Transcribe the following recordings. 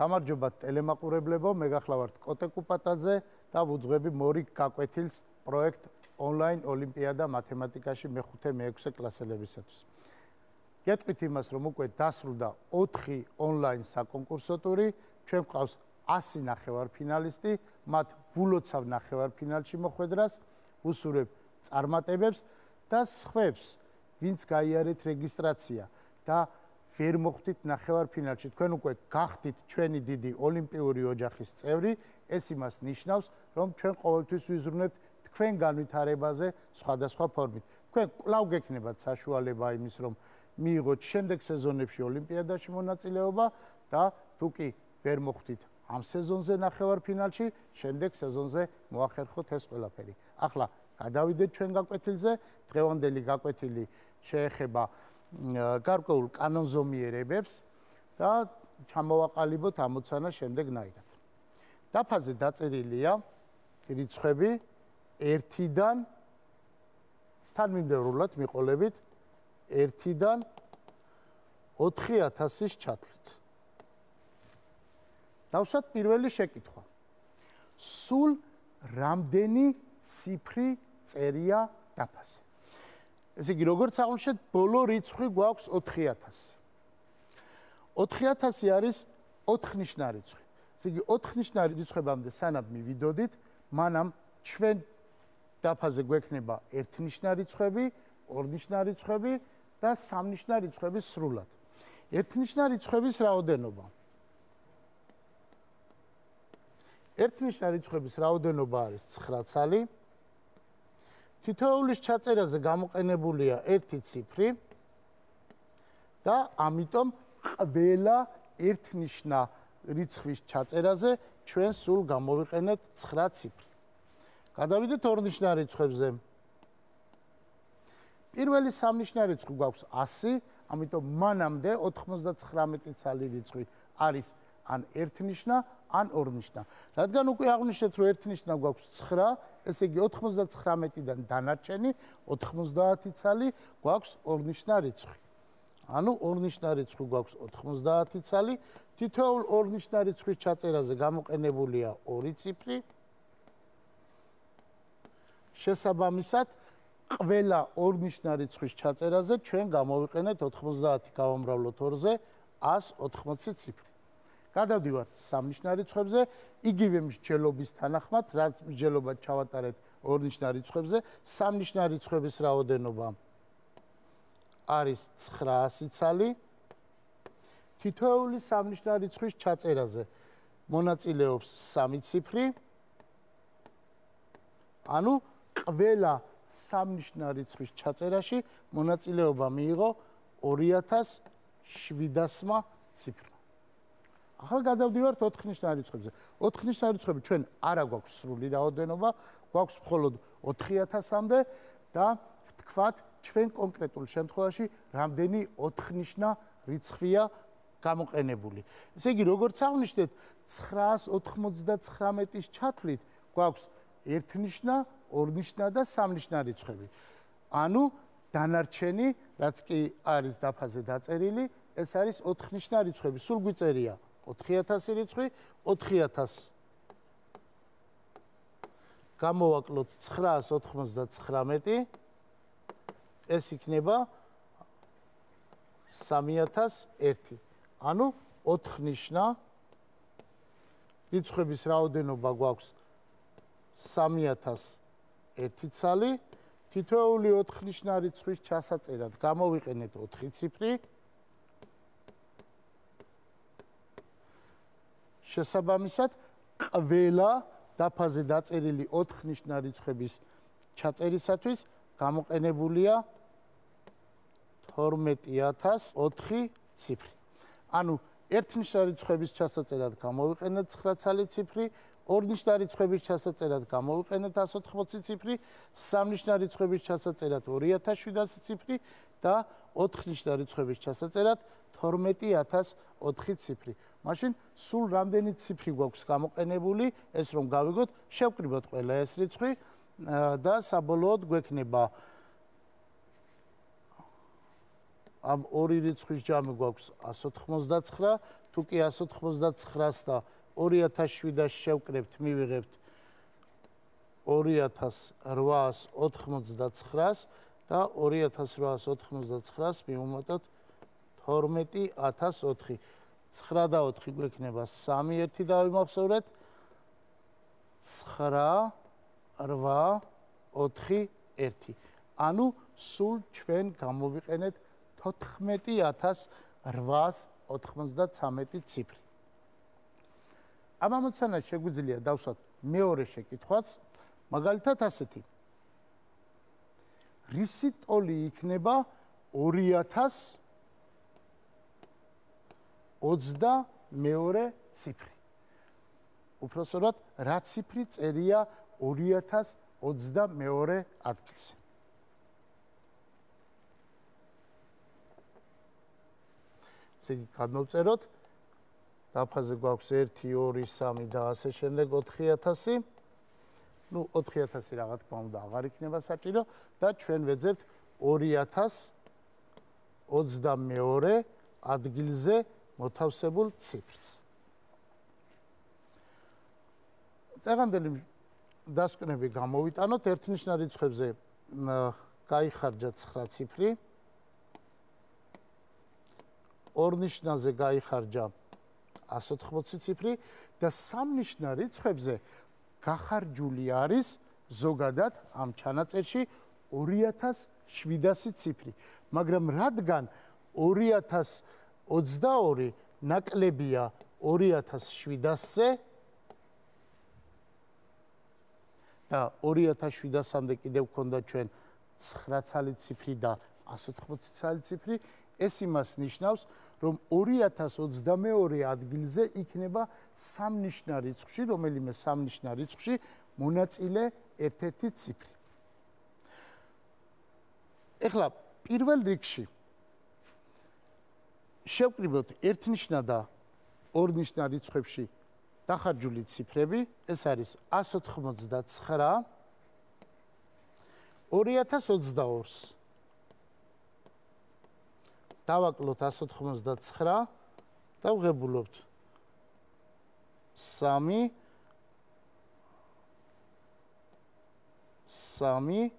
გამარჯობა ტელემაყურებლებო, მე გახლავართ კოტე კუპატაძე და ვუძღვები მორიგ გაკვეთილს პროექტ ონლაინ ოლიმპიადა მათემატიკაში მე-5-მე-6 კლასელებისათვის. გეტყვით იმას, რომ უკვე დასრულდა 4 ონლაინ საკონკურსო ტური, ჩვენ გვყავს 100 ნახევარფინალისტი, მათ ვულოცავ ნახევარფინალში მოხვედრას, ვუსურებ წარმატებებს და სხვებს, ვინც გაიარეთ რეგისტრაცია და ვერ მოხვდით ნახევარფინალში, თქვენ უკვე გახდით ჩვენი დიდი ოლიმპიური ოჯახის წევრი, ეს იმას ნიშნავს, რომ ჩვენ ყოველთვის ვიზრუნებთ თქვენ განვითარებაზე სხვადასხვა ფორმით. თქვენ კვლავ გექნებათ საშუალება იმის, რომ მიიღოთ შემდეგ სეზონებში ოლიმპიადაში მონაწილეობა და თუ კი ვერ მოხვდით ამ სეზონზე ნახევარფინალში, შემდეგ სეზონზე მოახერხოთ ეს ყველაფერი. ახლა გადავიდეთ ჩვენ გაკვეთილზე, დღევანდელი გაკვეთილი შეეხება გარკვეულ კანონზომიერებებს და ჩამოვაყალიბოთ ამოცანა შემდეგნაირად. დაფაზე დაწერილია რიცხვები 1-დან თანმიმდევრულად მიყოლებით 1-დან 4000-ის ჩათვლით. დავსვათ პირველი შეკითხვა. სულ რამდენი ციფრი წერია დაფაზე? ესე იგი, როგორც აღვნიშნეთ, ბოლო რიცხვი გვაქვს 4000. 4000 არის 4-ნიშნა რიცხვი. ესე იგი, 4-ნიშნა რიცხვებამდე სანამ მივიდოდით, მანამ ჩვენ დაფაზე გვექნება 1-ნიშნა რიცხვები, 2-ნიშნა რიცხვები და 3-ნიშნა რიცხვები სრულად. 1-ნიშნა რიცხვების რაოდენობა. 1-ნიშნა რიცხვების რაოდენობა არის 9 ცალი. თითოეულის ჩაწერაზე გამოყენებულია 1 ციფრი და ამიტომ ყველა 1-ნიშნა რიცხვის ჩაწერაზე ჩვენ სულ გამოვიყენეთ 9 ციფრი. გადავიდეთ 2-ნიშნა რიცხვებზე. პირველი 3-ნიშნა რიცხვი გვაქვს 100, ამიტომ მანამდე 99 ცალი რიცხვი არის ან 1-ნიშნა, ან 2-ნიშნა. რადგან უკვე აღვნიშნეთ, რომ 1-ნიშნა გვაქვს 9, ესე იგი 99-დან დანარჩენი 90 ცალი გვაქვს 2-ნიშნა რიცხვი. ანუ 2-ნიშნა რიცხვი გვაქვს 90 ცალი, თითოეულ 2-ნიშნა რიცხვის ჩაწერაზე გამოყენებულია 2 ციფრი. შესაბამისად, ყველა 2-ნიშნა რიცხვის ჩაწერაზე ჩვენ გამოვიყენეთ 90 გავამრავლოთ 2-ზე 180 ციფრი. გადავდივართ 3-ნიშნა რიცხვებზე, იგივე მსჯელობის თანახმად, რაც მსჯელობა ჩავატარეთ 2-ნიშნა რიცხვებზე, 3-ნიშნა რიცხვების რაოდენობა არის 900 ცალი. თითოეული 3-ნიშნა რიცხვის ჩაწერაზე მონაწილეობს 3 ციფრი. ანუ ყველა 3-ნიშნა რიცხვის ჩაწერაში მონაწილეობა მიიღო 2700 ციფრი. ახლა გადავდივართ 4-ნიშნა რიცხვებზე. 4-ნიშნა რიცხვები ჩვენ არა გვაქვს სრული რაოდენობა, გვაქვს მხოლოდ 4000-მდე და ვთქვათ, ჩვენ კონკრეტულ შემთხვევაში რამდენი 4-ნიშნა რიცხვია გამოყენებული. ესე იგი, როგორც აღვნიშნეთ, 999-ის ჩათვლით გვაქვს 1-ნიშნა, 2-ნიშნა და 3-ნიშნა რიცხვები. ანუ დანარჩენი, რაც კი არის დაფაზე დაწერილი, ეს არის 4-ნიშნა რიცხვები. სულ გვიწერია 4000 რიცხვი, 4000 გამოვაკლოთ 999, ეს იქნება 3001. ანუ 4-ნიშნა რიცხვების რაოდენობა გვაქვს 3001 ცალი, თითოეული 4-ნიშნა რიცხვის ჩასაწერად გამოვიყენეთ 4 ციფრი. შესაბამისად, ყველა დაფაზე დაწერილი 4-ნიშნა რიცხვების ჩაწერისათვის გამოყენებულია 12004 ციფრი. ანუ 1-ნიშნა რიცხვების ჩასაწერად გამოვიყენეთ 9 ცალი ციფრი, 2-ნიშნა რიცხვების ჩასაწერად გამოვიყენეთ 180 ციფრი, 3-ნიშნა რიცხვების ჩასაწერად 2700 ციფრი და 4-ნიშნა რიცხვების ჩასაწერად 12004 ციფრი. მაშინ სულ რამდენი ციფრი გვაქვს გამოყენებული, ეს რომ გავიგოთ, შევკრიბოთ ყველა ეს რიცხვი და საბოლოოდ გვექნება ამ ორი რიცხვის ჯამი გვაქვს 189 თუ კი 199-ს და 2007-ს შევკრებთ, მივიღებთ 2899-ს და 2899-ს მივუმატოთ 12004. 9 და 4 გვექნება 3 1 დავიმახსოვრეთ 9 8 4 1. ანუ სულ ჩვენ გამოვიყენეთ 14893 ციფრი. ამ ამოცანას შეგვიძლია დავსვათ მეორე შეკითხვაც, მაგალითად ასეთი. რისი ტოლი იქნება 2022 ციფრი? უпроსორად, რა ციფრი წერია 2022 ადგილზე? ესე იგი, გადმოვწეროთ. დაფაზე გვაქვს 1, 2, 3 და ასე შემდეგ 4000. ნუ 4000 რა თქმა უნდა აღარ იქნება საჭირო და ჩვენ ვეძებთ 2022 ადგილზე მოთავსებულ ციფრს. წეგანდელი დასკვნები გამოვიტანოთ, ერთნიშნა რიცხვებზე გაიხარჯა 9 ციფრი. ორნიშნაზე გაიხარჯა 180 ციფრი და სამნიშნა რიცხვებზე გახარჯული არის ზოგადად ამ ჩანაწერში 2700 ციფრი. მაგრამ რადგან 2022 ნაკლებია 2700-ზე და 2700-მდე კიდევ გვქონდა ჩვენ 9 ცალი ციფრი და 180 ცალი ციფრი, ეს იმას ნიშნავს, რომ 2022 ადგილზე იქნება სამნიშნა რიცხვში, რომელიმე სამნიშნა რიცხვში მონაწილე ერთ-ერთი ციფრი. ეხლა პირველ რიგში შევკრიბოთ ერთნიშნა და ორნიშნა რიცხვებში დახარჯული ციფრები, ეს არის 189 2022-ს. დავაკლოთ 189 და ვღებულობთ 3 8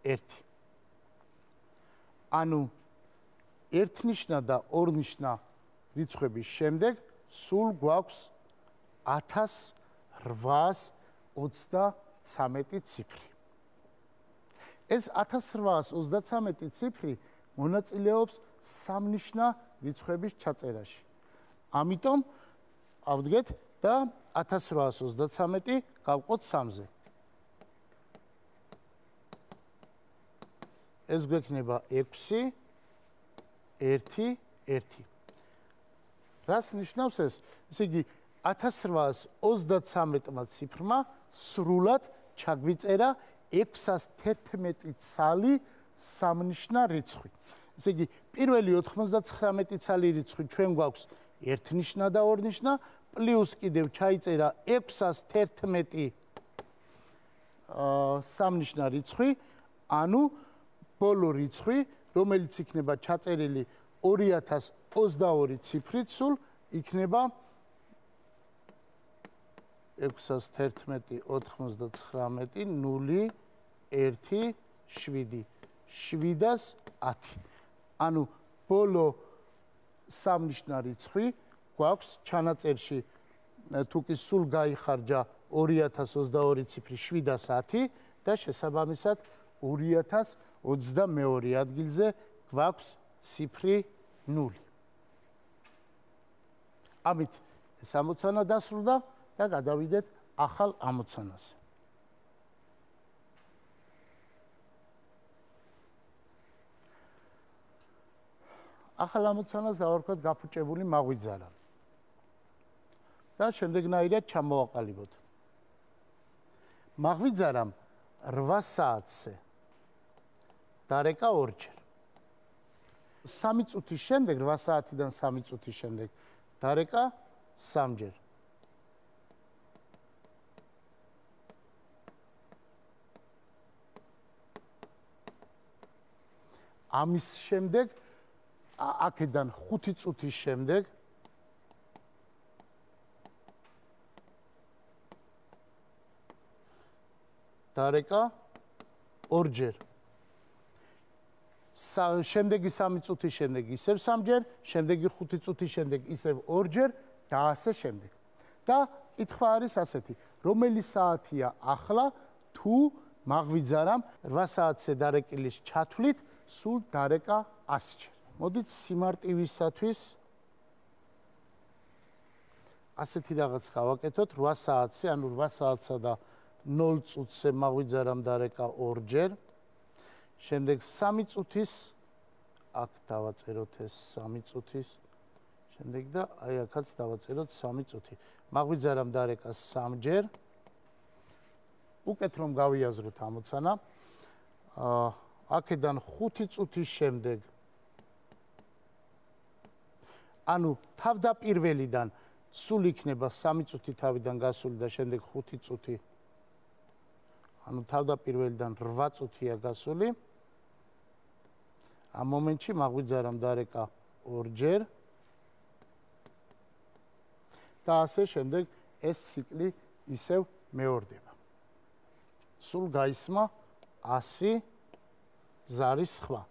1. ანუ ერთნიშნა და ორნიშნა რიცხვების შემდეგ სულ გვაქვს 1833 ციფრი. ეს 1833 ციფრი მონაწილეობს სამნიშნა რიცხვების ჩაწერაში. ამიტომ ავდგეთ და 1833 გავყოთ 3-ზე. ეს გვექნება 6 1 1. რას ნიშნავს ეს? ესე იგი 1833 ციფრმა სრულად ჩაგვიწერა 611 ცალი სამნიშნა რიცხვი. ესე იგი, პირველი 99 ცალი რიცხვი ჩვენ გვაქვს ერთნიშნა და ორნიშნა, პლუს კიდევ ჩაიწერა 611 სამნიშნა რიცხვი, ანუ ბოლო რიცხვი, რომელიც იქნება ჩაწერილი 2022 ციფრით სულ, იქნება 611 99 0 1 7 710. ანუ ბოლო სამნიშნა რიცხვი გვაქვს ჩანაწერში, თუ კი სულ გაიხარჯა 2022 ციფრი 710 და შესაბამისად 2022 ადგილზე გვაქვს ციფრი 0. ამით ეს ამოცანა დასრულდა და გადავიდეთ ახალ ამოცანაზე. ახალ ამოცანას დავარქვათ გაფუჭებული მაღვიძარა. და შემდეგნაირად ჩამოვაყალიბოთ. მაღვიძარამ 8 საათზე დარეკა ორჯერ. 3 წუთის შემდეგ, 8 საათიდან 3 წუთის შემდეგ დარეკა 3-ჯერ. ამის შემდეგ აქედან 5 წუთის შემდეგ დარეკა ორჯერ. შემდეგი 3 წუთის შემდეგ ისევ 3ჯერ, შემდეგი 5 წუთის შემდეგ ისევ 2ჯერ და ასე შემდეგ. და კითხვა არის ასეთი, რომელი საათია ახლა თუ მაღვიძარამ 8 საათზე დარეკილის ჩათვლით სულ დარეკა 100ჯერ. მოდით სიმარტივისათვის ასეთი რაღაც გავაკეთოთ 8 საათზე, ანუ 8 საათსა და 0 წუთზე მაღვიძარამ დარეკა 2ჯერ. შემდეგ 3 წუთის აქ დავაწეროთ ეს 3 წუთის. შემდეგ და აი აქაც დავაწეროთ 3 წუთი. მაღვიძარამ დარეკა 3ჯერ. უკეთ რომ გავიაზროთ ამოცანა. აქედან 5 წუთის შემდეგ ანუ თავდაპირველიდან სულ იქნება 3 წუთი თავიდან გასული და შემდეგ 5 წუთი. ანუ თავდაპირველიდან 8 წუთია გასული. ამ მომენტში მაღვიძარამ დარეკა 2ჯერ. და ასე შემდეგ ეს ციკლი ისევ მეორდება. სულ გაისმა 100 ზარის სხვა.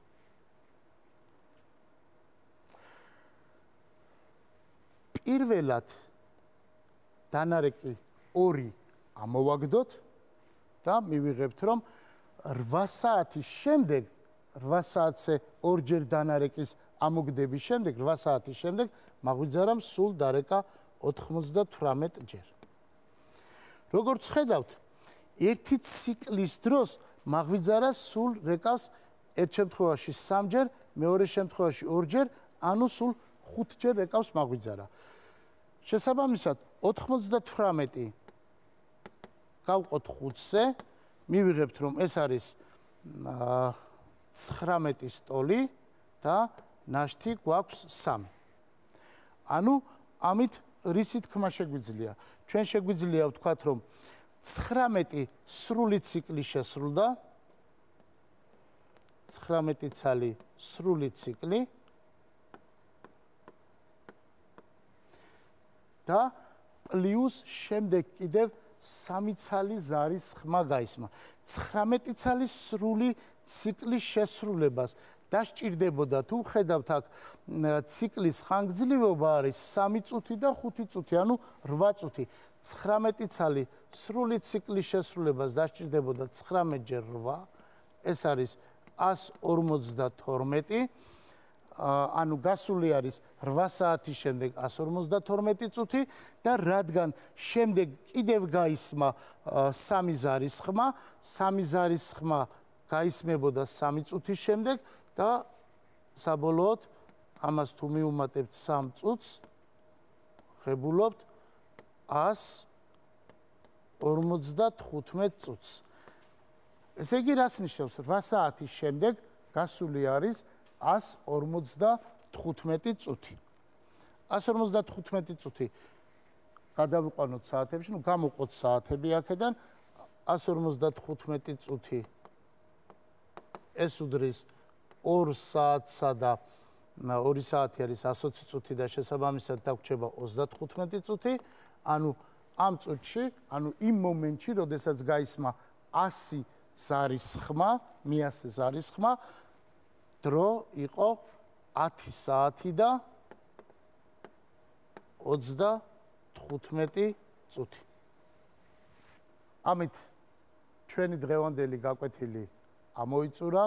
პირველად დანარეკი 2 ამოვაგდოთ და მივიღებთ რომ 8 საათის შემდეგ 8 საათზე 2ჯერ დანარეკის ამოგდების შემდეგ 8 საათის შემდეგ მაღვიძარამ სულ დარეკა 98ჯერ. როგორც ხედავთ, ერთი ციკლის დროს მაღვიძარა სულ რეკავს ერთ შემთხვევაში 3ჯერ, მეორე შემთხვევაში 2ჯერ, ანუ სულ 5ჯერ რეკავს მაღვიძარა. შესაბამისად 98 გავყოთ 5-ზე, მივიღებთ რომ ეს არის 19 ტოლი და ნაშთი გვაქვს 3. ანუ ამით რისი თქმა შეგვიძლია? ჩვენ შეგვიძლია ვთქვათ რომ 19 სრული ციკლი შესრულდა. 19 ცალი სრული ციკლი და პლუს შემდეგ კიდევ 3 ცალი ზარის ხმა გაისმა. 19 ცალი სრული ციკლის შესრულებას დასჭირდებოდა თუ ხედავთ აქ ციკლის ხანგრძლივობა არის 3 წუთი და 5 წუთი, ანუ 8 წუთი. 19 ცალი სრული ციკლის შესრულებას დასჭირდებოდა 19-ჯერ 8, ეს არის 152. ანუ გასული არის 8 საათის შემდეგ 152 წუთი და რადგან შემდეგ კიდევ გაისმა 3 ზარის ხმა, 3 ზარის ხმა გაისმებოდა 3 წუთის შემდეგ და საბოლოოდ ამას თუ მიუმატებთ 3 წუთს, ხებულობთ 155 წუთს. ესე იგი რას ნიშნავს? 8 საათის შემდეგ გასული არის 155 წუთი. 155 წუთი გადავიყვანოთ საათებში, ნუ გამოვყოთ საათები აქედან. 155 წუთი ეს უდრის 2 საათსა და 2 საათი არის 120 წუთი და შესაბამისად დაგვრჩება 35 წუთი. ანუ ამ წუთში, ანუ იმ მომენტში, როდესაც გაისმა 100 ზარის ხმა, 100 ზარის ხმა, დრო იყო 10 საათი და 35 წუთი. ამით ჩვენი დღევანდელი გაკვეთილი ამოიწურა.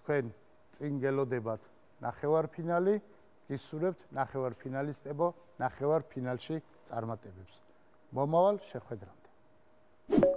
თქვენ წინ გელოდებათ ნახევარფინალი, გისურვებთ ნახევარფინალისტებო ნახევარფინალში წარმატებებს. მომავალ შეხვედრამდე.